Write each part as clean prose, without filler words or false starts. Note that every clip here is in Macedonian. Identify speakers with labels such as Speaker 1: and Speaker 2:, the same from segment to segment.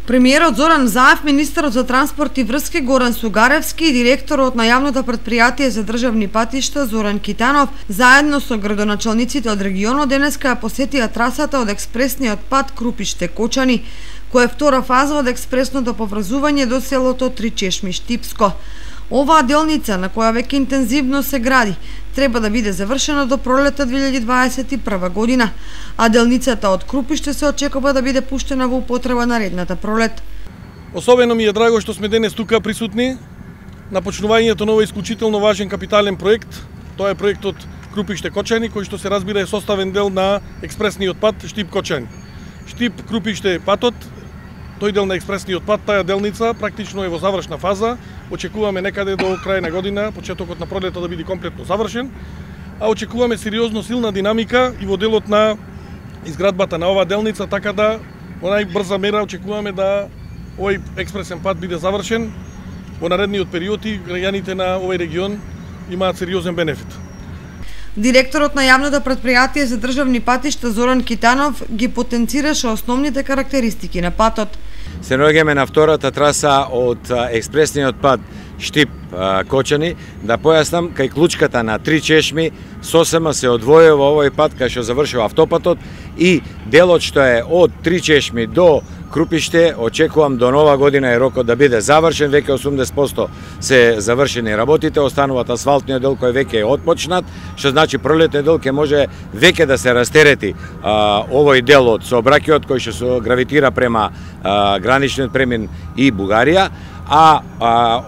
Speaker 1: Премиерот Зоран Заев, министерот за транспорт и врски Горан Сугаревски и директорот на јавното претпријатие за државни патишта Зоран Китанов заедно со градоначалниците од регионот денеска ја посетија трасата од експресниот пат Крупиште-Кочани, која е втора фаза од експресното поврзување до селото Тричешми-Штипско. Оваа делница, на која веќе интензивно се гради, треба да биде завршена до пролета 2021 година, а делницата од Крупиште се очекува да биде пуштена во употреба наредната пролет.
Speaker 2: Особено ми е драго што сме денес тука присутни на почнувањето на овој исклучително важен капитален проект. Тоа е проектот Крупиште-Кочани, кој што се разбира е составен дел на експресниот пат Штип-Кочани. Штип-Крупиште патот, тој дел на експресниот пат, таа делница практично е во завршна фаза. Очекуваме некаде до крај на година, почетокот на пролета да биде комплетно завршен, а очекуваме сериозно силна динамика и во делот на изградбата на оваа делница, така да во најбрза мера очекуваме да овој експресен пат биде завршен во наредниот период и граѓаните на овој регион имаат сериозен бенефит.
Speaker 1: Директорот на јавното претпријатие за државни патишта Зоран Китанов ги потенцираше основните карактеристики на патот.
Speaker 3: Се наоѓаме на втората траса од експресниот пат Штип-Кочани. Да појаснам, кај клучката на Тричешми сосема се одвојува овој пат кај што завршува автопатот и делот што е од Тричешми до Крупиште, очекувам до нова година е рокот да биде завршен, веќе 80% се завршени работите, остануваат асфалтниот дел кој веќе е отпочнат, што значи пролетниот дел ќе може веќе да се растерети овој дел од сообраќајот кој што се гравитира према граничниот премин и Бугарија, а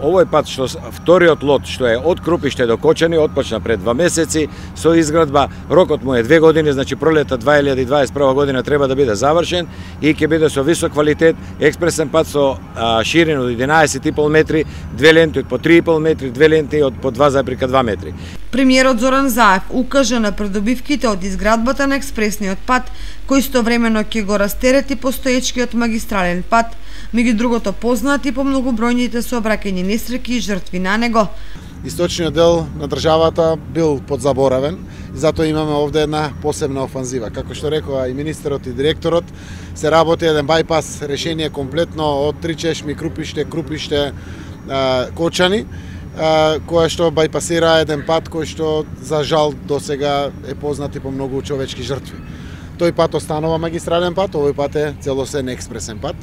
Speaker 3: овој пат што вториот лот што е од Крупиште до Кочани отпочна пред 2 месеци со изградба, рокот му е 2 години, значи пролета 2021 година треба да биде завршен и ќе биде со висок квалитет, експресен пат со ширина од 11,5 метри, 2 ленти од по 3,5 метри, 2 ленти од по 2,2 метри.
Speaker 1: Премиерот Зоран Заев укажа на придобивките од изградбата на експресниот пат, кој истовремено ќе го растерети постоечкиот магистрален пат, меѓу другото познати по многобројните сообраќајни несреќи и жртви на него.
Speaker 4: Источниот дел на државата бил подзаборавен и затоа имаме овде една посебна офанзива. Како што рекоа и министерот и директорот, се работи еден бајпас решение комплетно од Тричешми, Крупиште, Кочани, која што бајпасира еден пат кој што за жал досега е познат и по многу човечки жртви. Тој пат останува магистрален пат, овој пат е целосен експресен пат.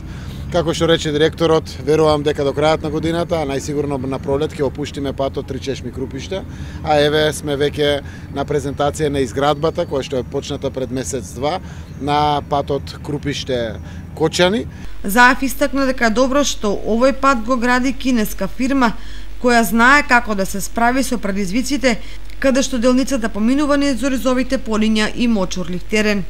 Speaker 4: Како што рече директорот, верувам дека до крајот на годината, а најсигурно на пролет ќе опуштиме патот Тричешми-Крупиште, а еве сме веќе на презентација на изградбата која што е почната пред месец-два на патот Крупиште-Кочани.
Speaker 1: Заев истакна дека е добро што овој пат го гради кинеска фирма која знае како да се справи со предизвиците, каде што делницата поминува низ оризовите полиња и мочурлив терен.